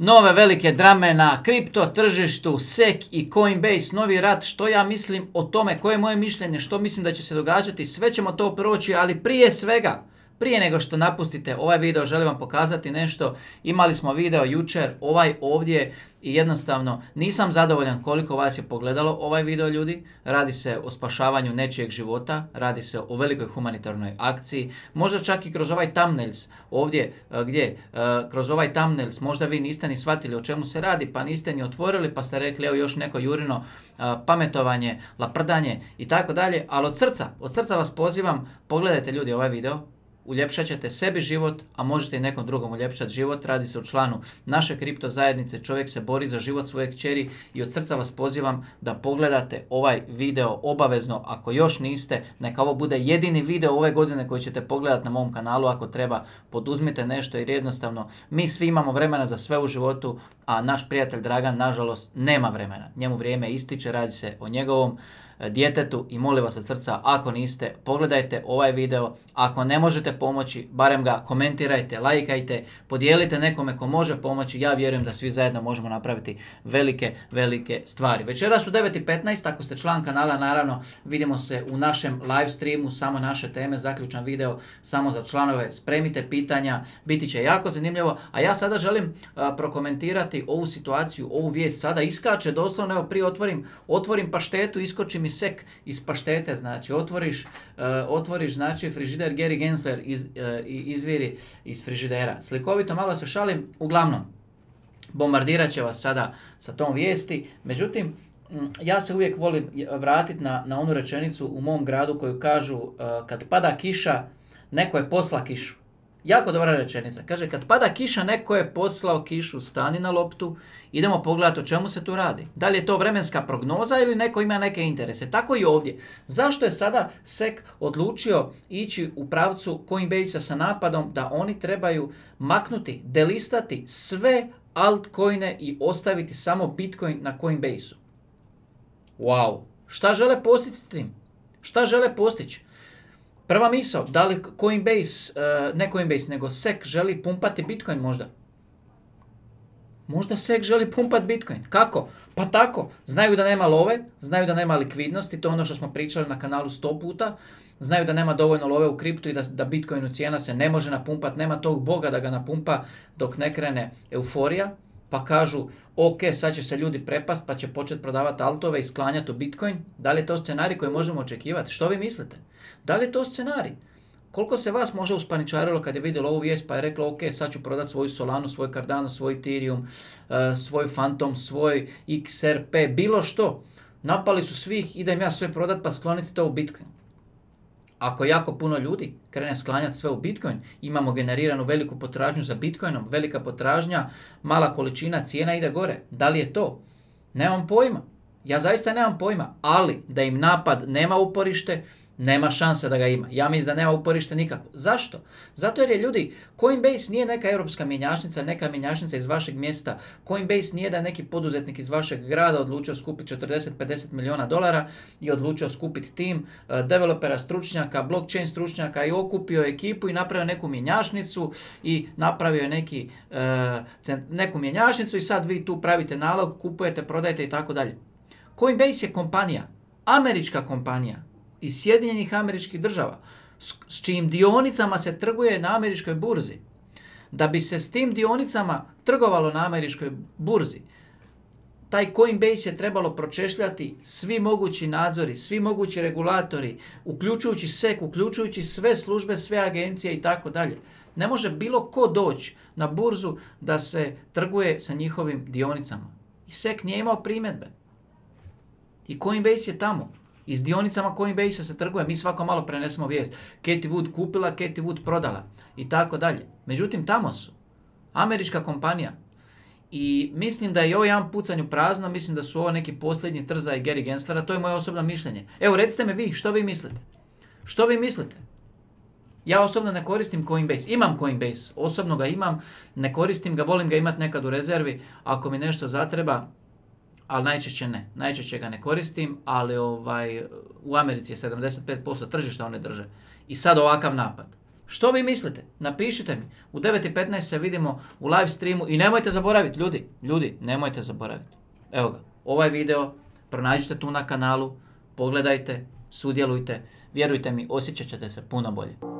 Nove velike drame na kripto tržištu, SEC i Coinbase, novi rat, što ja mislim o tome, koje je moje mišljenje, što mislim da će se događati, sve ćemo to proći, ali prije svega, prije nego što napustite ovaj video, želim vam pokazati nešto. Imali smo video jučer, ovaj ovdje, i jednostavno nisam zadovoljan koliko vas je pogledalo ovaj video, ljudi. Radi se o spašavanju nečijeg života, radi se o velikoj humanitarnoj akciji, možda čak i kroz ovaj thumbnails ovdje, kroz ovaj thumbnails možda vi niste ni shvatili o čemu se radi, pa niste ni otvorili, pa ste rekli evo još neko Jurino pametovanje, laprdanje i tako dalje, ali od srca vas pozivam, pogledajte ljudi ovaj video. Uljepšat ćete sebi život, a možete i nekom drugom uljepšati život. Radi se o članu naše kripto zajednice, čovjek se bori za život svoje kćeri i od srca vas pozivam da pogledate ovaj video obavezno. Ako još niste, neka ovo bude jedini video ove godine koji ćete pogledati na mom kanalu. Ako treba, poduzmite nešto jer jednostavno mi svi imamo vremena za sve u životu, a naš prijatelj Dragan nažalost nema vremena. Njemu vrijeme ističe, radi se o njegovom djetetu i molim vas od srca, ako niste, pogledajte ovaj video. Ako ne možete pomoći, barem ga komentirajte, lajkajte, podijelite nekome ko može pomoći. Ja vjerujem da svi zajedno možemo napraviti velike stvari. Večeras u 9:15, ako ste član kanala, naravno, vidimo se u našem live streamu, samo naše teme, zaključan video, samo za članove. Spremite pitanja, biti će jako zanimljivo. A ja sada želim prokomentirati ovu situaciju, ovu vijest. Sada iskače, doslovno, evo prije otvorim paštetu, iskoči mi SEC iz paštete, znači otvoriš znači frižider, Gary Gensler izviri iz frižidera. Slikovito, malo se šalim, uglavnom bombardirat će vas sada sa tom vijesti. Međutim, ja se uvijek volim vratiti na onu rečenicu u mom gradu koju kažu kad pada kiša, neko je posla kišu. Jako dobra rečenica. Kaže, kad pada kiša, neko je poslao kišu, stani na loptu, idemo pogledati o čemu se tu radi. Da li je to vremenska prognoza ili neko ima neke interese. Tako i ovdje. Zašto je sada SEC odlučio ići u pravcu Coinbase-a sa napadom da oni trebaju maknuti, delistati sve altcoine i ostaviti samo Bitcoin na Coinbase-u? Wow! Šta žele postići s tim? Šta žele postići? Prva misao, da li Coinbase, ne Coinbase, nego SEC želi pumpati Bitcoin možda? Možda SEC želi pumpati Bitcoin. Kako? Pa tako. Znaju da nema love, znaju da nema likvidnosti, to je ono što smo pričali na kanalu 100 puta. Znaju da nema dovoljno love u kriptu i da Bitcoinu cijena se ne može napumpati, nema tog boga da ga napumpa dok ne krene euforija. Pa kažu, ok, sad će se ljudi prepast pa će početi prodavati altove i sklanjati u Bitcoin. Da li je to scenarij koji možemo očekivati? Što vi mislite? Da li je to scenarij? Koliko se vas možda uspaničarilo kad je vidjelo ovu vijest pa je reklo, ok, sad ću prodati svoju Solanu, svoj Cardano, svoj Ethereum, svoj Phantom, svoj XRP, bilo što. Napali su svih, idem ja sve prodat pa skloniti to u Bitcoin. Ako jako puno ljudi krene sklanjati sve u Bitcoin, imamo generiranu veliku potražnju za Bitcoinom, velika potražnja, mala količina, cijena ide gore. Da li je to? Nemam pojma. Ja zaista nemam pojma, ali da im napad nema uporište, nema šanse da ga ima. Ja mislim da nema uporište nikako. Zašto? Zato jer je, ljudi, Coinbase nije neka europska mjenjačnica, neka mjenjačnica iz vašeg mjesta. Coinbase nije da je neki poduzetnik iz vašeg grada odlučio skupiti 40-50 milijuna dolara i odlučio skupiti tim developera, stručnjaka, blockchain stručnjaka i okupio ekipu i napravio neku mjenjačnicu i napravio neku mjenjačnicu i sad vi tu pravite nalog, kupujete, prodajete i tako dalje. Coinbase je kompanija, američka kompanija iz Sjedinjenih Američkih Država, s čijim dionicama se trguje na američkoj burzi. Da bi se s tim dionicama trgovalo na američkoj burzi, taj Coinbase je trebalo pročešljati svi mogući nadzori, svi mogući regulatori, uključujući SEC, uključujući sve službe, sve agencije i tako dalje. Ne može bilo ko doći na burzu da se trguje sa njihovim dionicama. I SEC nije imao primjedbe. I Coinbase je tamo. I s dionicama Coinbase se trguje. Mi svako malo prenesemo vijest. Cathie Wood kupila, Cathie Wood prodala. I tako dalje. Međutim, tamo su. Američka kompanija. I mislim da je ovo jedan pucanj u prazno. Mislim da su ovo neki posljednji trzaj Gary Genslera. To je moje osobno mišljenje. Evo, recite mi vi, što vi mislite? Što vi mislite? Ja osobno ne koristim Coinbase. Imam Coinbase. Osobno ga imam. Ne koristim ga. Volim ga imati nekad u rezervi. Ako mi nešto zatreba, ali najčešće ne. Najčešće ga ne koristim, ali u Americi je 75% tržišta one drže. I sad ovakav napad. Što vi mislite? Napišite mi. U 9:15 se vidimo u live streamu i nemojte zaboraviti, ljudi, nemojte zaboraviti. Evo ga, ovaj video pronađite tu na kanalu, pogledajte, sudjelujte, vjerujte mi, osjećat ćete se puno bolje.